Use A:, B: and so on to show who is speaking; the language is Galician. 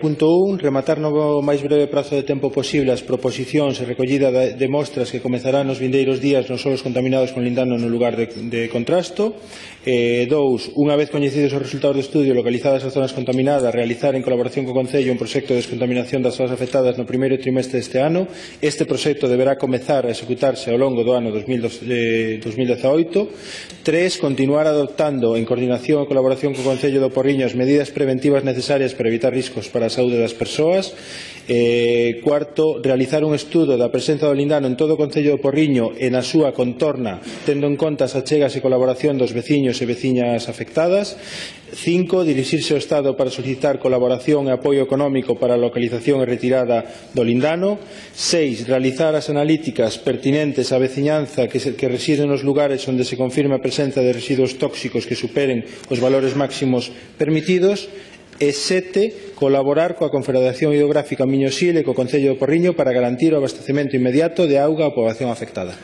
A: Punto 1. Rematar no máis breve prazo de tempo posible as proposicións e recollida de mostras que comezarán nos vindeiros días nos solos contaminados con lindano no lugar de contrasto. 2. Unha vez coñecidos os resultados do estudio localizadas as zonas contaminadas, realizar en colaboración co Concello un proxecto de descontaminación das zonas afectadas no primeiro trimestre deste ano. Este proxecto deberá comezar a executarse ao longo do ano 2018. 3. Continuar adoptando en coordinación e colaboración co Concello do Porriño as medidas preventivas necesarias para evitar riscos para a saúde das persoas. 4. Realizar un estudo da presenza do lindano en todo o Concello do Porriño e na súa contorna, tendo en conta as achegas e colaboración dos veciños e veciñas afectadas. 5. Dirixirse ao Estado para solicitar colaboración e apoio económico para a localización e retirada do lindano. 6. Realizar as analíticas pertinentes á veciñanza que reside nos lugares onde se confirme a presenza de residuos tóxicos que superen os valores máximos permitidos. E 7. Colaborar coa Confederación Hidrográfica Miño-Sil e co Concello do Porriño para garantir o abastecemento inmediato de auga á poboación afectada.